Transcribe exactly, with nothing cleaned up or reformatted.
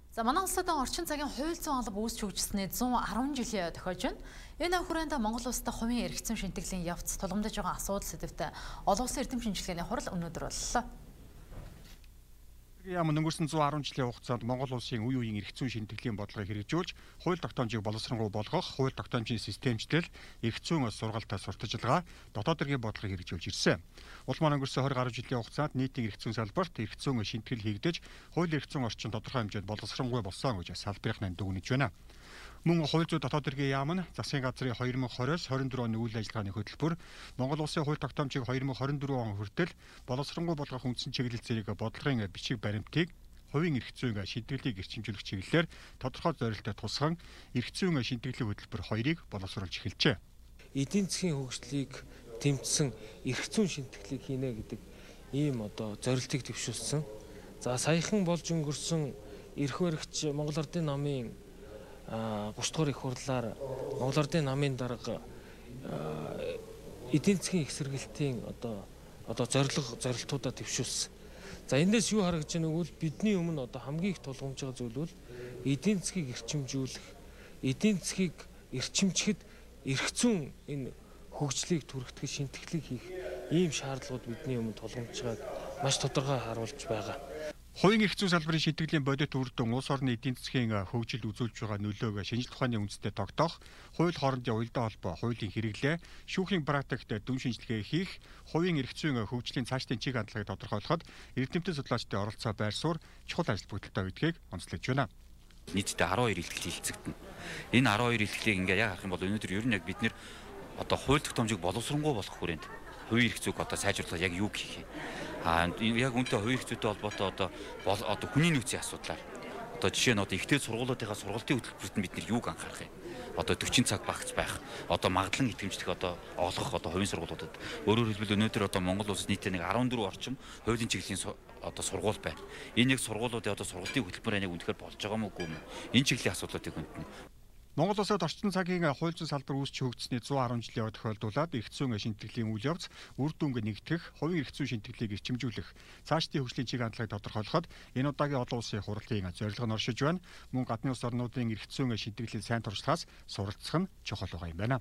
За манай улсад орчин цагийн хууль зүйн алба үүсч хөгжсөний зуун арван жилийн тохиож байна. Энэ хүрээнд Монгол улсад хувийн эрх зүйн шинтгэлийн явц тулгамдж байгаа асуудал сэдвтэ олон улсын эрдэм шинжилгээний хурал өнөөдөр боллоо. Яам өнгөрсөн зуун арван жилийн хугацаанд Монгол улсын үе үеийн эрх зүйн шинтгэлийн бодлогыг хэрэгжүүлж, хууль тогтоомжийг боловсронгуй болгох, хууль тогтоомжийн системчлэл, эрх зүйн сургалтаа сурталчилгаа, дотоод хэргийн бодлогыг хэрэгжүүлж ирсэн. Улмаар өнгөрсөн двадцать гаруй жилийн хугацаанд нийтийн эрх зүйн салбарт эрх зүйн шинтгэл хийгдэж, хууль эрх зүйн орчин тодорхой хэмжээнд боловсронгуй болсон гэж салбарынхаа дүгнэж байна. Мөн хууль зүйн дотоод хэргийн яам нь засгийн газрын две тысячи двадцать двадцать one оны үйл ажиллагааны хөтөлбөр Монгол улсын хууль тогтоомжийг две тысячи двадцать four он хүртэл боловсронгуй болгох үндсэн чиглэл зэрэг бодлогын бичиг баримтыг хувийн эрх зүйн шинтгэлийг эрчимжүүлэх чиглэлээр тодорхой зорилттой тусган эрх зүйн шинтгэлийн хөтөлбөр хоёрыг боловсруулж эхэлжээ. Эдийн засгийн хөгжлийг тэмцсэн эрх зүйн шинтгэлийг хийнэ гэдэг ийм одоо зорилтыг төвшүүлсэн. За саяхан болж өнгөрсөн эрх баригч Монгол Ардын намын гурав дахь их хурлаар Монгол Ардын намын дарга эдийн засгийн их сэргэлтийн одоо одоо зорилго зорилтуудаа төвшүүлсэн. За эндээс юу харагдаж байна вэ? Бидний өмнө одоо хамгийн их тулгамж байгаа зүйл бол эдийн засгийг эрчимжүүлэх, эдийн засгийг эрчимчихэд эрх зүйн энэ хөгжлийг түргэтгэж шинтгэлийг хийх ийм шаардлагууд бидний өмнө тулгамж байгааг маш тодорхой харуулж байгаа. Хувийн эрх зүйн салбарын шинтгэлийн бодит үр дүн улс орны эдийн засгийн хөгжилд үзүүлж байгаа нөлөөг шинжилгээ ухааны үндэстэд тогтоох, хууль хоорондын уялдаа холбоо, хуулийн хэрэглээ, шүүхийн практикт дүн шинжилгээ хийх, хувийн эрх зүйн хөгжлийн цаашдын чиг хандлагыг тодорхойлоход эрдэмтэн судлаачдын оролцоо байр суурь чухал ажил бүгдэлтэй байдгийг онцлож байна. Нийтдээ twelve илтгэл хилцэгдэнэ. Энэ twelve илтгэлийг ингээ яг харах юм бол өнөөдөр ер нь яг бид нэр одоо хууль тогтоомжийг боловсронгуй болгох хүрээнд хувийн эрх зүйг одоо сайжруулах яг юу гэх юм. А яг үнтэй хувийн эрх зүйтэй холбоотой одоо одоо хүний нөөцийн асуудлаар одоо жишээ нь одоо ихтэй сургуулиудынхаа сургалтын хөтөлбөрт нь бид нар юуг анхаарах юм. Одоо forty цаг багц байх, одоо магадлан итгэмжлэх одоо олгох одоо хувийн сургуулиудад өөрөөр хэлбэл өнөөдөр одоо Монгол улсад нийтдээ нэг fourteen орчим хуулийн чиглэлийн одоо сургууль байна. Энэ яг сургуулиудын одоо сургалтын хөтөлбөр яг үнэхээр болж байгаа мó үгүй мó. Энэ чиглэлийн асуудлуудыг хүндэнэ. Монгол улсад орчин цагийн хууль зүйн салбар үүсч хөгжсөний one hundred жилийн тохиолдуулаад эрх зүйн шинтгэлийн үйл явц үр дүнг нэгтгэх, хувийн эрх зүйн шинтгэлийг эрчимжүүлэх, цаашдын хөгжлийн чиг хандлагыг тодорхойлоход энэ удаагийн олон улсын хурлын зорилго нь оршиж байна. Мөн гадны улс орнуудын эрх зүйн шинтгэлийн сайн туршлагаас суралцах нь чухал байгаа юм байна.